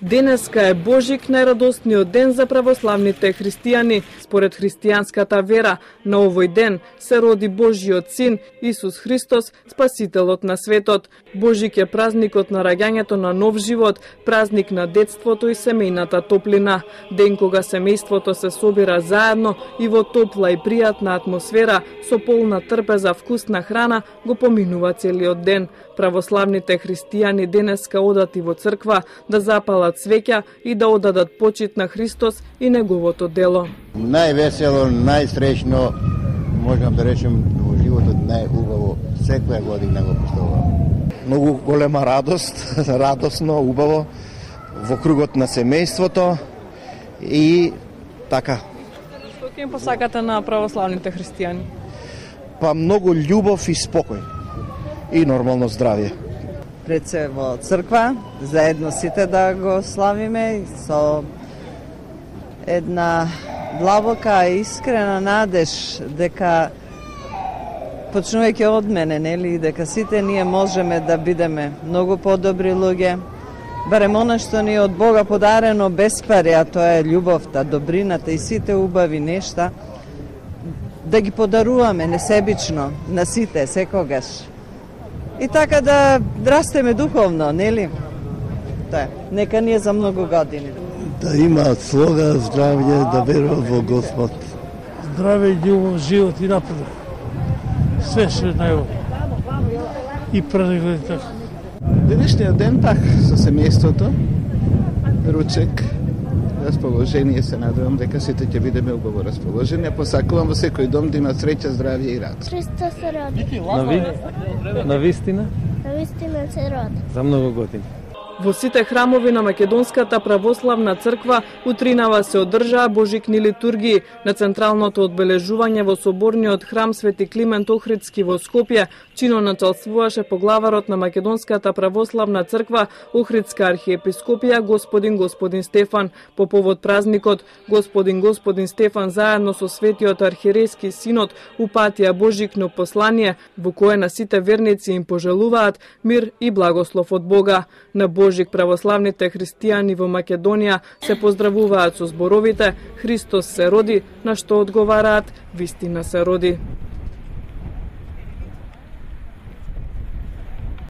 Денеска е Божик, најрадосниот ден за православните христијани. Според христијанската вера, на овој ден се роди Божиот син, Исус Христос, спасителот на светот. Божик е празникот на раѓањето на нов живот, празник на детството и семејната топлина. Ден кога семејството се собира заедно и во топла и пријатна атмосфера, со полна трпеза вкусна храна, го поминува целиот ден. Православните христијани денеска одат и во црква да запалат свеќа и да одадат почит на Христос и неговото дело. Највесело, најсреќно, можам да речем, во животот најубаво, секоја година го поставувам. Многу голема радост, радосно, убаво, во кругот на семејството и така. Што ќе им посакате на православните христијани? Па многу љубов и спокој и нормално здравје. Пред се во црква, заедно сите да го славиме со една длабока и искрена надеж дека почнувајќи од мене, нели, дека сите ние можеме да бидеме многу подобри луѓе, барем она што ни е од Бога подарено без пари, а тоа е љубовта, добрината и сите убави нешта, да ги подаруваме несебично на сите секогаш. И така да растеме духовно, нели? Тоа е. Нека ни е за многу години. Да имаат слога, здравје, да веруваат во Господ. Здраве и љубов, живот и напредок. Све што е најобро. И празник така. Денешниот ден пак со семејството, ручек, расположение, се надевам дека сите ќе бидеме убаво расположени. Посакувам во секој дом да има среќа, здравје и радост. Христос се роди. На вистина? На вистина се роди. За многу години. Во сите храмови на Македонската православна црква утринава се одржаа божикни литургии. На централното одбележување во соборниот храм Свети Климент Охридски во Скопје чино началствуваше поглаварот на Македонската православна црква Охридска архиепископија Господин Стефан. По повод празникот Господин Стефан заедно со светиот архиерејски синод упатија божикно послание во кое на сите верници им пожелуваат мир и благослов од Бога. На Божик православните христијани во Македонија се поздравуваат со зборовите Христос се роди, на што одговараат вистина се роди.